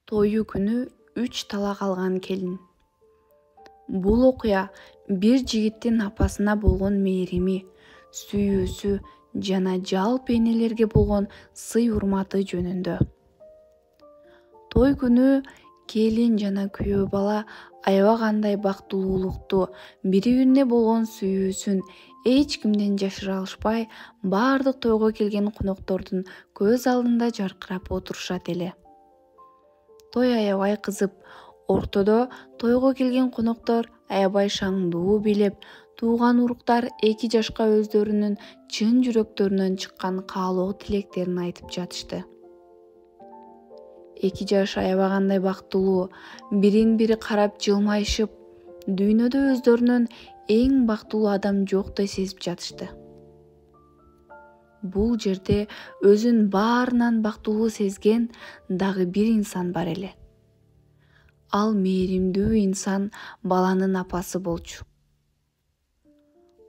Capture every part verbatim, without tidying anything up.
Тою күнү үч талак алган келин. Бул окуя бир жигиттин апасына болгон мээрими, сүйүүсү жана жалпы энелерге болгон сый урматы жөнүндө. Той күнү келин жана күйөө бала аябай кандай бактылуулукту, бири-бирине болгон сүйүүсүн эч кимден жашыра алышпай, баардык тойго келген коноктордун көз алдында жаркырап отурушат эле. Той аябай кызып, ортодо тойго келген коноктор аябай шаңдуу бийлеп, тууган уруктар эки жашка өздөрүнүн чын жүрөктөрүнөн чыккан каалоо тилектерин айтып жатышты. Эки жаш аябай кандай бактылуу, бирин-бири карап жылмайышып, дүйнөдө өздөрүнөн эң бактылуу адам жоктой сезип жатышты. Бул жерде өзүн баарынан бактылуу сезген дагы бир инсан бар эле. Ал мээримдүү инсан баланын апасы болчу.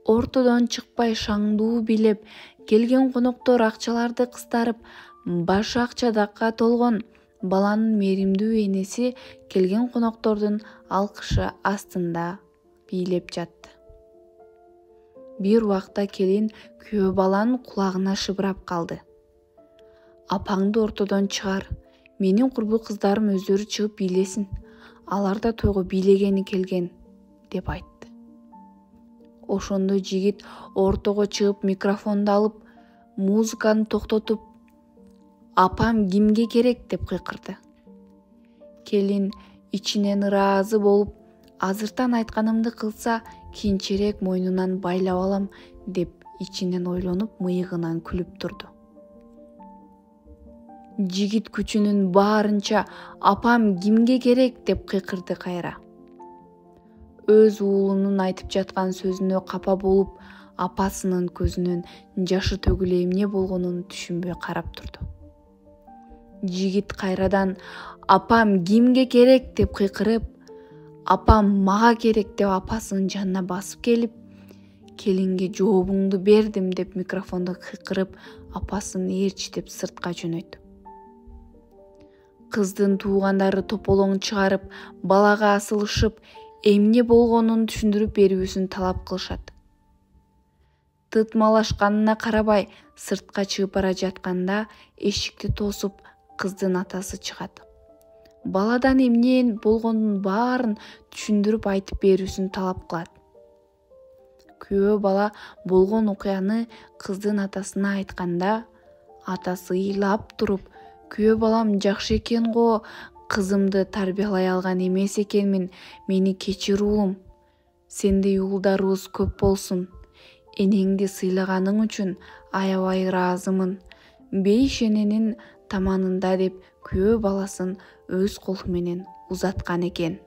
Ортодон чыкпай шаңдуу бийлеп келген коноктор акчаларды кыстарып, башы акчадакка толгон баланын мээримдүү энеси келген коноктордун алкышы астында бийлеп жатты. Бир убакта келин күйөө баланын кулагына шыбырап калды. Апаңды ортодон чыгар, менин курбу кыздарым өздөрү чыгып бийлесин, алар да тойго бийлегени келген, деп айтты. Ошондо жигит ортого чыгып микрофонду алып, музыканы токтотуп, апам кимге керек деп кыйкырды. Келин ичинен ыраазы болуп, азыртан айтканымды кылса, кийинчерээк мойнунан байлап алам деп ичинен ойлонуп мыйыгынан күлүп турду. Жигит күчүнүн баарынча апам кимге керек деп кыйкырды кайра. Өз уулунун айтып жаткан сөзүнө капа болуп, апасынын көзүнөн жашы төгүлө эмне болгонун түшүнбөй карап турду. Жигит кайрадан апам кимге керек деп кыйкырып, апам мага керек деп апасынын жанына басып келип, келинге жообуңду бердим деп микрофондо кыйкырып, апасын ээрчитип сыртка жөнөйттү. Кыздын туугандары тополоң чыгарып, балага асылышып, эмне болгонун түшүндүрүп берүүсүн талап кылышат. Тытмалашканына карабай, сыртка чыгып бара жатканда эшикти тосуп, кыздын атасы чыгат. Баладан эмне болгонун баарын түшүндүрүп айтып берүүсүн талап кылат. Күйөө бала болгон окуяны кыздын атасына айтканда, атасы ыйлап туруп, күйөө балам жакшы экен го, кызымды тарбиялай алган эмес экенмин, мени кечир уулум, сендей уулдарыбыз көп болсун, энеңди сыйлаганың үчүн аябай ыраазымын, беш эненин таманында деп күйөө баласын өз колу менен узаткан экен.